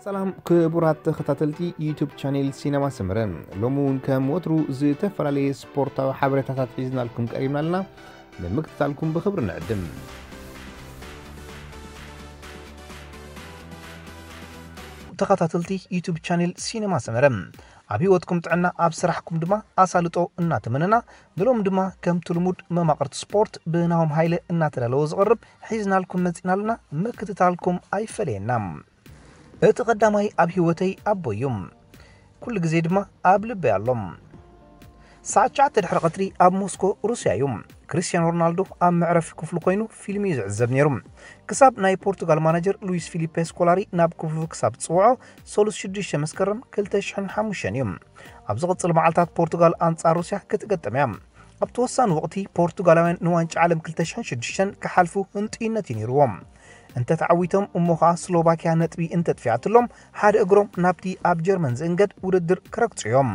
ሰላም ክቡራት ተኸታተልቲ ዩቱብ ቻኔል ሲነማ ሰመረ፣ ሎሚ እውን ከም ወትሩ ዝተፈላለየ ስፖርታዊ ሓበሬታታት ሒዝናልኩም ቀሪብና ኣለና። ንምክትታልኩም ብኽብሪ ንዕድም። ተኸታተልቲ ዩቱብ ቻኔል ሲነማ ሰመረ፣ ኣብ ህይወትኩም ጥዕና፣ ኣብ ስራሕኩም ድማ ኣሳልጦ እናተመነና፣ ንሎም ድማ ከምቲ ልሙድ መማቕርቲ ስፖርት ብናሆም ሃይለ እናተዳለወ ዝቐርብ ሒዝናልኩም መጺና ኣለና። ምክትታልኩም ኣይፈለየና። እቲ ቀዳማይ ኣብ ህይወተይ ኣቦይ እዩ። ኩሉ ግዜ ድማ ኣብ ልበይ ኣሎ። ሰዓት ትሽዓተ ድሕሪ ቀትሪ ኣብ ሞስኮ ሩስያ እዩ። ክርስቲያኖ ሮናልዶ ኣብ መዕረፊ ክፍሉ ኮይኑ ፊልም እዩ ዝዕዘብ ነይሩ። ክሳብ ናይ ፖርቱጋል ማናጀር ሉዊስ ፊሊፔ ስኮላሪ ናብ ክፍሉ ክሳብ ዝጽውዖ፣ ሰሉስ ሽዱሽተ መስከረም ክልተ ሽሕን ሓሙሽተን እዩ። ኣብ ዝቕጽል መዓልታት ፖርቱጋል ኣንጻር ሩስያ ክትገጥም እያ። ኣብቲ ወሳኒ ወቕቲ ፖርቱጋላውያን ንዋንጫ ዓለም ክልተ ሽሕን ሽዱሽተን ክሓልፉ ህንጡይነት እዩ ነይርዎም። እንተ ተዓዊቶም እሞ ኸኣ ስሎቫኪያ ነጥቢ እንተ ኣጥፊኣትሎም ሓደ እግሮም ናብቲ ኣብ ጀርመን ዝእንገድ ውድድር ክረግጹ እዮም።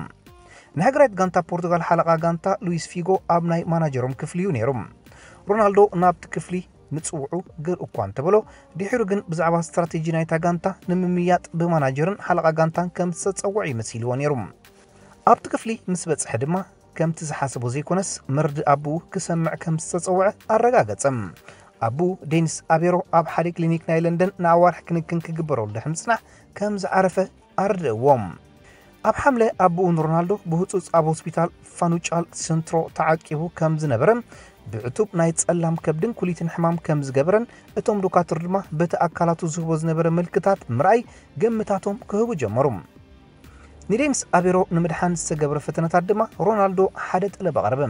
ንሃገራዊት ጋንታ ፖርቱጋል ሓለቓ ጋንታ ሉዊስ ፊጎ ኣብ ናይ ማናጀሮም ክፍሊ እዩ ነይሩ። ሮናልዶ ናብቲ ክፍሊ ምጽውዑ ግር እኳ እንተበሎ፣ ድሒሩ ግን ብዛዕባ ስትራቴጂ ናይታ ጋንታ ንምምይያጥ ብማናጀርን ሓለቓ ጋንታን ከም ዝተጸውዐ እዩ መሲልዎ ነይሩ። ኣብቲ ክፍሊ ምስ በጽሐ ድማ ከምቲ ዝሓሰቦ ዘይኮነስ መርድእ ኣቦኡ ክሰምዕ ከም ዝተጸውዐ ኣረጋገጸ። ኣቦኡ ዴኒስ ኣቤሮ ኣብ ሓደ ክሊኒክ ናይ ለንደን ንኣዋርሕ ክንክን ክግበረሉ ድሕሪ ምጽናሕ ከም ዝዓረፈ ኣረድእዎም። ኣብ ሓምለ ኣቦኡ ንሮናልዶ ብህጹጽ ኣብ ሆስፒታል ፋኑጫል ሰንትሮ ተዓቂቡ ከም ዝነበረ፣ ብዕቱብ ናይ ጸላም ከብድን ኩሊትን ሕማም ከም ዝገበረን እቶም ዶካትር ድማ በቲ ኣካላቱ ዝህቦ ዝነበረ ምልክታት ምርኣይ ግምታቶም ክህቡ ጀመሩ። ንዴኒስ ኣቤሮ ንምድሓን ዝተገብረ ፈተነታት ድማ ሮናልዶ ሓደ ጠለብ ኣቕረበ።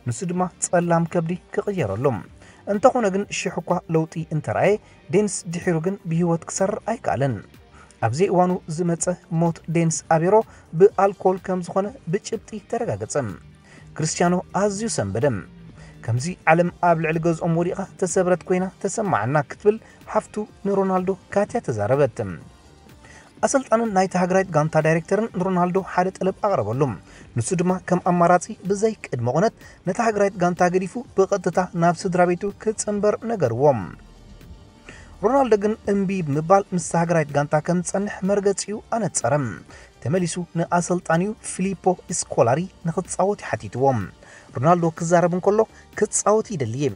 ንሱ ድማ ጸላም ከብዲ ክቕየረሉ። እንተኾነ ግን ሽሕ እኳ ለውጢ እንተረኣየ፣ ዴኒስ ድሒሩ ግን ብህይወት ክሰርር ኣይከኣለን። ኣብ ዘይእዋኑ ዝመጸ ሞት ዴኒስ ኣቤሮ ብኣልኮል ከም ዝኾነ ብጭብጢ ተረጋገጸ። ክርስቲያኖ ኣዝዩ ሰንበደ። ከምዚ ዓለም ኣብ ልዕሊ ገዝኦም ወዲቓ ተሰብረት ኮይና ተሰማዓና ክትብል ሓፍቱ ንሮናልዶ ካትያ ተዛረበት። ኣሰልጣንን ናይታ ሃገራዊት ጋንታ ዳይሬክተርን ንሮናልዶ ሓደ ጠለብ ኣቕረበሉ። ንሱ ድማ ከም ኣማራጺ ብዘይ ቅድመ ቁነት ነታ ሃገራዊት ጋንታ ገዲፉ ብቐጥታ ናብ ስድራ ቤቱ ክጽንበር ነገርዎ። ሮናልዶ ግን እምቢ ብምባል ምስ ሃገራዊት ጋንታ ከም ዝጸንሕ መርገጺኡ ኣነጸረ። ተመሊሱ ንኣሰልጣኒኡ ፊሊፖ ስኮላሪ ንኽጻወት እዩ ሓቲትዎ። ሮናልዶ ክዛረብ እንከሎ፣ ክጻወት ይደሊ እየ፣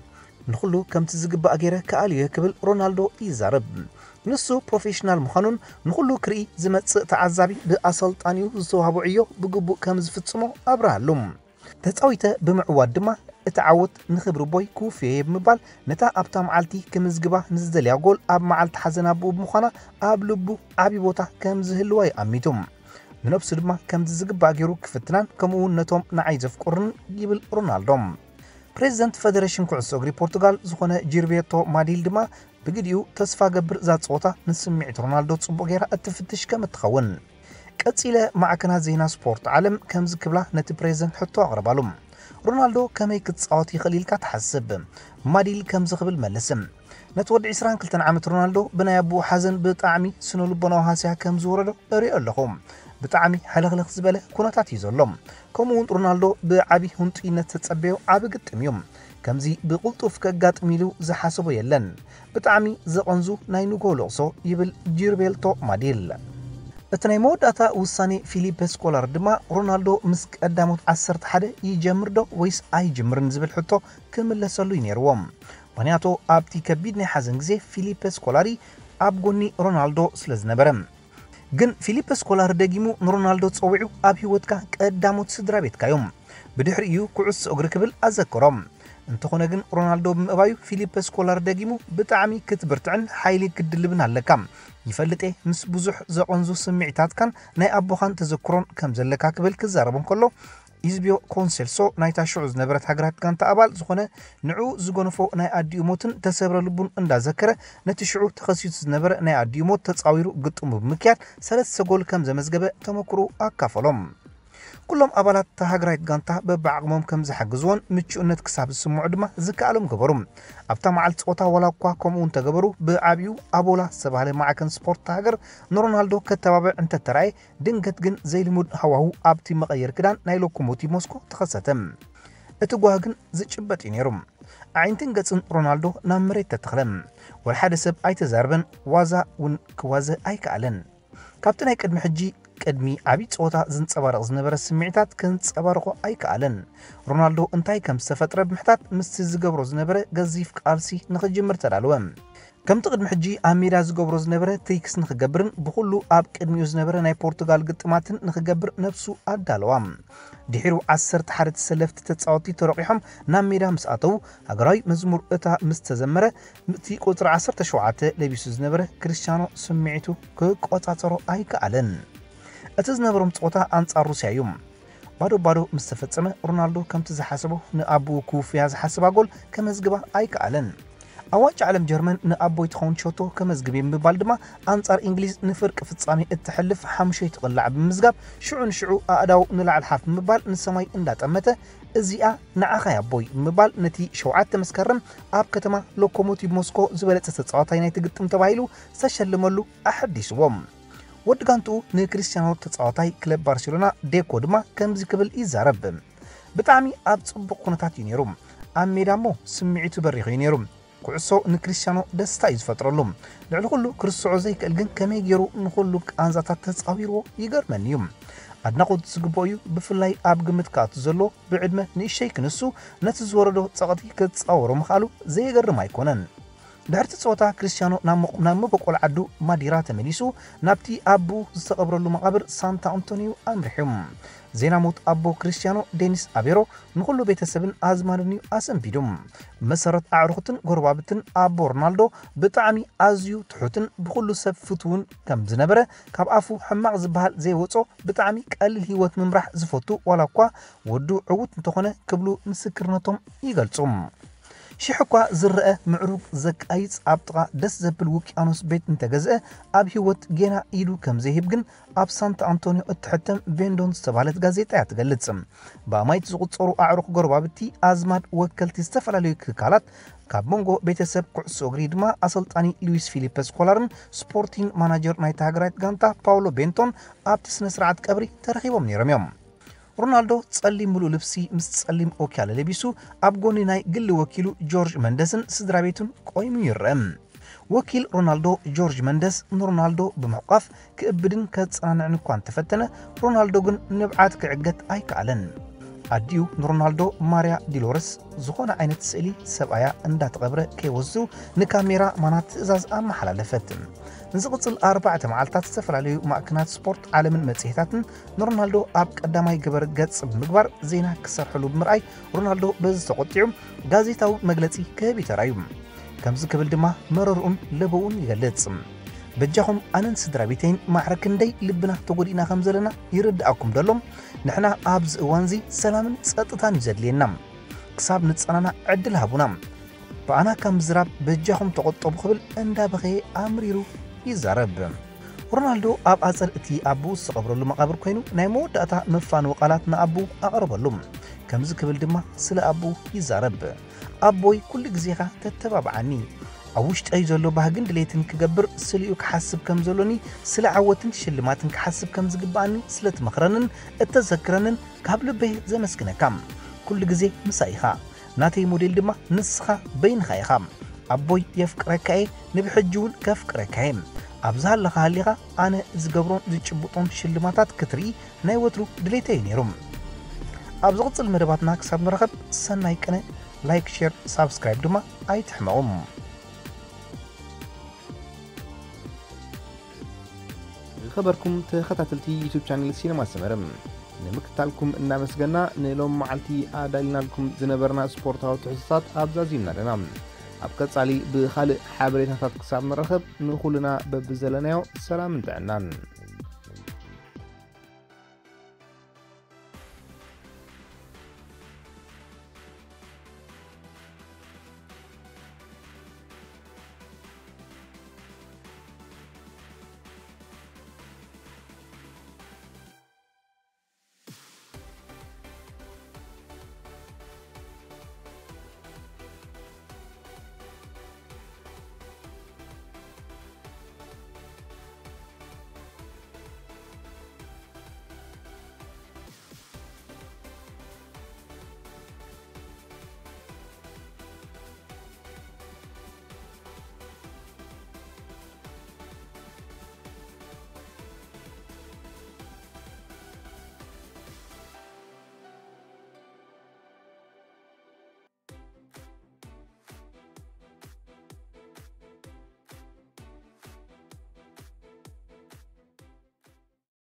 ንኹሉ ከምቲ ዝግባእ ገይረ ክኣልዮ እየ ክብል ሮናልዶ ይዛረብ። ንሱ ፕሮፌሽናል ምዃኑን ንኹሉ ክርኢ ዝመጽእ ተዓዛቢ ብኣሰልጣኒኡ ዝተዋህቦ ዕዮ ብግቡእ ከም ዝፍጽሞ ኣብርሃሉ። ተጻዊተ ብምዕዋት ድማ እቲ ዓወት ንኽብሪ ኣቦይ ክውፍዮ እየ ብምባል ነታ ኣብታ መዓልቲ ክምዝግባ ንዝደልያ ጎል ኣብ መዓልቲ ሓዘን ኣቦኡ ብምዃና ኣብ ልቡ ዓቢ ቦታ ከም ዝህልዋ እዩ ኣሚቱ። ንነብሱ ድማ ከምዚ ዝግባእ ገይሩ ክፍትናን ከምኡ እውን ነቶም ንዓይ ዘፍቅሩን ይብል ሮናልዶ። ፕሬዚደንት ፈደሬሽን ኩዕሶ እግሪ ፖርቱጋል ዝኾነ ጂርቤርቶ ማዲል ድማ ብግዲኡ ተስፋ ገብር እዛ ጸወታ ንስምዒት ሮናልዶ ጽቡቕ ገይራ እትፍትሽ ከም እትኸውን። ቀጺለ ማዕከናት ዜና ስፖርት ዓለም ከምዚ ክብላ ነቲ ፕሬዚደንት ሕቶ ኣቕረባሉ። ሮናልዶ ከመይ ክጻወት ይኽእል ኢልካ ትሓስብ? ማዲል ከምዚ ክብል መልስ። ነቲ ወዲ ዕስራን ክልተን ዓመት ሮናልዶ ብናይ ኣቦኡ ሓዘን ብጣዕሚ ስነ ልቦናዊ ሃስያ ከም ዝወረዶ እሪኦ ኣለኹ። ብጣዕሚ ሕልኽልኽ ዝበለ ኩነታት እዩ ዘሎ። ከምኡ እውን ሮናልዶ ብዓቢ ህንጡይነት ተጸበዮ ዓቢ ግጥም እዩ። ከምዚ ብቕልጡፍ ከጋጥም ኢሉ ዝሓሰቦ የለን። ብጣዕሚ ዘቐንዙ ናይ ንግሆ ለቕሶ ይብል ጂርቤልቶ ማዲል። እቲ ናይ መወዳእታ ውሳኔ ፊሊፕ ስኮላር ድማ ሮናልዶ ምስ ቀዳሞት ዓሰርተ ሓደ ይጀምር ዶ ወይስ ኣይጅምርን ዝብል ሕቶ ክምለሰሉ እዩ ነይርዎ። ምኽንያቱ ኣብቲ ከቢድ ናይ ሓዘን ግዜ ፊሊፕ ስኮላሪ ኣብ ጎኒ ሮናልዶ ስለ ዝነበረ። ግን ፊሊፕ ስኮላሪ ደጊሙ ንሮናልዶ ጸዊዑ ኣብ ህይወትካ ቀዳሞት ስድራ ቤትካ እዮም። ብድሕሪኡ ኩዕሶ እግሪ ክብል ኣዘከሮም። እንተኾነ ግን ሮናልዶ ብምእባዩ ፊሊፕ ስኮላሪ ደጊሙ ብጣዕሚ ክትብርትዕን ሓይሊ ክትድልብን ኣለካ። ይፈልጥ እየ ምስ ብዙሕ ዘቐንዙ ስምዒታትካን ናይ ኣቦኻን ተዘክሮን ከም ዘለካ ክብል ክዛረብ እንከሎ ኢዝቢዮ ኮንሴልሶ ናይታ ሽዑ ዝነበረት ሃገራት ጋንታ ኣባል ዝኾነ ንዕኡ ዝገነፎ ናይ ኣዲኡ ሞትን ተሰብረ ልቡን እንዳዘከረ ነቲ ሽዑ ተኸሲቱ ዝነበረ ናይ ኣዲኡ ሞት ተጻዊሩ ግጥሙ ብምክያድ ሰለስተ ጎል ከም ዘመዝገበ ተመክሮኡ ኣካፈሎም። ኩሎም ኣባላት እታ ሃገራዊት ጋንታ በብዓቕሞም ከም ዝሓግዝዎን ምቹእነት ክሳብ ዝስምዖ ድማ ዝከኣሎም ገበሩ። ኣብታ መዓልቲ ጸወታ ዋላ እኳ ከምኡ እንተገበሩ ብዓቢኡ ኣቦላ ዝተባህለ ማዕከን ስፖርት እታ ሃገር ንሮናልዶ ከተባብዕ እንተተራእየ ድንገት ግን ዘይልሙድ ሃዋሁ ኣብቲ መቐየሪ ክዳን ናይ ሎኮሞቲቭ ሞስኮ ተኸሰተ። እቲ ጓሂ ግን ዝጭበጥ እዩ ነይሩ። ኣዒንትን ገጽን ሮናልዶ ናብ መሬት ተተኽለ። ወላ ሓደ ሰብ ኣይተዛረበን፣ ዋዛ እውን ክዋዘ ኣይከኣለን። ካብቲ ናይ ቅድሚ ሕጂ ቅድሚ ዓብዪ ጸወታ ዝንጸባረቕ ዝነበረ ስምዒታት ክንጸባርቖ ኣይከኣለን። ሮናልዶ እንታይ ከም ዝተፈጥረ ብምሕታት ምስቲ ዝገብሮ ዝነበረ ገዚፍ ቃልሲ ንኽጅምር ተዳለወ። ከምቲ ቅድሚ ሕጂ ኣብ ሜዳ ዝገብሮ ዝነበረ ትሪክስ ንኽገብርን ብኹሉ ኣብ ቅድሚኡ ዝነበረ ናይ ፖርቱጋል ግጥማትን ንኽገብር ነብሱ ኣዳለዋ። ድሒሩ ዓሰርተ ሓደ ተሰለፍቲ ተጻወትቲ ተረቂሖም ናብ ሜዳ ምስ ኣተዉ፣ ሃገራዊ መዝሙር እታ ምስ ተዘመረ፣ እቲ ቁጽሪ ዓሰርተ ሸውዓተ ለቢሱ ዝነበረ ክርስቲያኖ ስምዒቱ ክቆጻጸሮ ኣይከኣለን። እቲ ዝነበሮም ጸወታ ኣንጻር ሩስያ እዩ። ባዶ ባዶ ምስ ተፈጸመ፣ ሮናልዶ ከምቲ ዝሓሰቦ ንኣቦኡ ክውፍያ ዝሓስባ ጎል ከመዝግባ ኣይከኣለን። ኣብ ዋንጫ ዓለም ጀርመን ንኣቦይ ትኸውን ሸቶ ከመዝግብ እየ ብምባል ድማ ኣንጻር እንግሊዝ ንፍርቂ ፍጻሜ እትሕልፍ ሓሙሸይቲ ቅላዕ ብምምዝጋብ ሽዑ ንሽዑ ኣእዳው ንላዕሊ ሓፍ ብምባል ንሰማይ እንዳጠመተ እዚኣ ንዓኻ እያ ኣቦይ ብምባል ነቲ ሸውዓተ መስከረም ኣብ ከተማ ሎኮሞቲቭ ሞስኮ ዝበለጸ ተጻዋታይ ናይቲ ግጥም ተባሂሉ ዝተሸለመሉ ኣሐዲስዎ። ወዲ ጋንትኡ ንክሪስቲያኖ ተጻዋታይ ክለብ ባርሴሎና ዴኮ ድማ ከምዚ ክብል ይዛረብ። ብጣዕሚ ኣብ ጽቡቕ ኩነታት እዩ ነይሩ። ኣብ ሜዳ እሞ ስምዒቱ በሪኹ እዩ ነይሩ። ኩዕሶ ንክሪስቲያኖ ደስታ እዩ ዝፈጥረሉ። ልዕሊ ኩሉ ክርስዖ ዘይክእል ግን ከመይ ገይሩ ንኹሉ ቃንዛታት ተጻዊርዎ ይገርመኒ እዩ። ኣድናቖት ዝግብኦ እዩ። ብፍላይ ኣብ ግምት ክኣቱ ዘሎ ብዕድመ ንእሸይ ክንሱ ነቲ ዝወረዶ ጸቕጢ ክጻወሮ ምኽኣሉ ዘየገርም ኣይኮነን። ድሕርቲ ጸወታ ክርስቲያኖ ናብ መቕ- ናብ መበቆል ዓዱ ማዲራ ተመሊሱ ናብቲ ኣቦኡ ዝተቐብረሉ መቓብር ሳንታ ኣንቶኒዮ ኣምሪሑ። ዜና ሞት ኣቦ ክርስቲያኖ ዴኒስ ኣቤሮ ንኹሉ ቤተሰብን ኣዝማድን እዩ ኣሰንቢዱ። መሰረት ኣዕሩኽትን ጎረባብትን ኣቦ ሮናልዶ ብጣዕሚ ኣዝዩ ትሑትን ብኹሉ ሰብ ፍትውን ከም ዝነበረ ካብ ኣፉ ሕማቕ ዝበሃል ዘይወጾ ብጣዕሚ ቀሊል ህይወት ምምራሕ ዝፈቱ ዋላ እኳ ወዱ ዕዉት እንተኾነ ክብሉ ምስክርነቶም ይገልጹ። ሽሕ እኳ ዝረአ ምዕሩግ ዘቃይጽ ኣብ ጥቓ ደስ ዘብል ውቅያኖስ ቤት እንተገዝአ ኣብ ህይወት ጌና ኢዱ ከም ዘይህብ ግን ኣብ ሳንታ ኣንቶኒዮ እትሕተም ቬንዶን ዝተባህለት ጋዜጣ እያ ትገልጽ። ብኣማይት ዝቑጸሩ ኣዕሩኽ ጎረባብቲ ኣዝማድ ወከልቲ ዝተፈላለዩ ትካላት ካብ መንጎ ቤተሰብ ኩዕሶ እግሪ ድማ ኣሰልጣኒ ሉዊስ ፊሊፐ ስኮላርን ስፖርቲን ማናጀር ናይታ ሃገራዊት ጋንታ ፓውሎ ቤንቶን ኣብቲ ስነ ስርዓት ቀብሪ ተረኺቦም ነይሮም እዮም። ሮናልዶ ጸሊም ምሉእ ልብሲ ምስ ጸሊም ኦኪያለ ለቢሱ ኣብ ጎኒ ናይ ግሊ ወኪሉ ጆርጅ መንደስን ስድራ ቤቱን ቆይሙ ይረአ። ወኪል ሮናልዶ ጆርጅ መንደስ ንሮናልዶ ብምሕቋፍ ክእብድን ከጸናንዕን እኳ እንተፈተነ፣ ሮናልዶ ግን ንብዓት ክዕገት ኣይከኣለን። ኣዲኡ ንሮናልዶ ማርያ ዲሎረስ ዝኾነ ዓይነት ስእሊ ሰብኣያ እንዳተቐብረ ከይወስዱ ንካሜራ ማናት ትእዛዝ ኣመሓላለፈት። ንዝቕጽል ኣርባዕተ መዓልታት ዝተፈላለዩ ማዕከናት ስፖርት ዓለምን መጽሔታትን ንሮናልዶ ኣብ ቀዳማይ ግበር ገጽ ብምግባር ዜና ክሰርሕሉ ብምርኣይ ሮናልዶ በዚ ተቖጢዑ ጋዜጣዊ መግለጺ ክህብ ይተራዩ። ከምዚ ክብል ድማ መረርኡን ለበውን ይገልጽ። በጃኹም ኣነን ስድራ ቤተይን ማዕረ ክንደይ ልብና ተጎዲእና ከም ዘለና ይርድኣኩም ደሎ? ንሕና ኣብዚ እዋንዚ ሰላምን ጸጥታን እዩ ዘድልየና። ክሳብ ንጸናና ዕድል ሃቡና። ብኣና ካብ ምዝራብ በጃኹም ተቖጠቡ ክብል እንዳበኸየ ኣምሪሩ ይዛረብ። ሮናልዶ ኣብ ኣጸድ እቲ ኣቦኡ ዝተቐብረሉ መቓብር ኮይኑ ናይ መወዳእታ መፋነዊ ቃላት ንኣቦኡ ኣቕረበሉ። ከምዚ ክብል ድማ ስለ ኣቦኡ ይዛረብ። ኣቦይ ኩሉ ግዜኻ ተተባብዓኒ። ኣብ ውሽጠይ ዘሎ ባህግን ድሌትን ክገብር ስሊኡ ክሓስብ ከም ዘሎኒ ስለ ዓወትን ሽልማትን ክሓስብ ከም ዝግብኣኒ ስለ ትመኽረንን እተዘክረንን ካብ ልበይ ዘመስግነካ። ኩሉ ግዜ ምሳይ ኢኻ። ናተይ ሞዴል ድማ ንስኻ በይንኻ ኢኻ። ኣቦይ የፍቅረካ እየ፣ ንብሕጂ እውን ከፍቅረካ እየ። ኣብ ዝሃለኻ ሃሊኻ ኣነ ዝገብሮን ዝጭብጦን ሽልማታት ክትርኢ ናይ ወትሩ ድሌተይ እዩ ነይሩ። ኣብ ዝቕጽል መደባትና ክሳብ ንራኸብ ሰናይ ቅነ። ላይክ፣ ሼር፣ ሳብስክራይብ ድማ ኣይትሕመቑ። ዝኸበርኩም ተኸታተልቲ ዩቱብ ቻነል ሲነማ ሰመረ፣ ንምክታልኩም እናመስገና ንሎም መዓልቲ ኣዳሊናልኩም ዝነበርና ስፖርታዊ ትሕዝቶታት ኣብዛዚምና ኣለና። ኣብ ቀጻሊ ብኻልእ ሓበሬታታት ክሳብ ንራኸብ ንኹልና በብዘለናዮ ሰላምን ጥዕናን።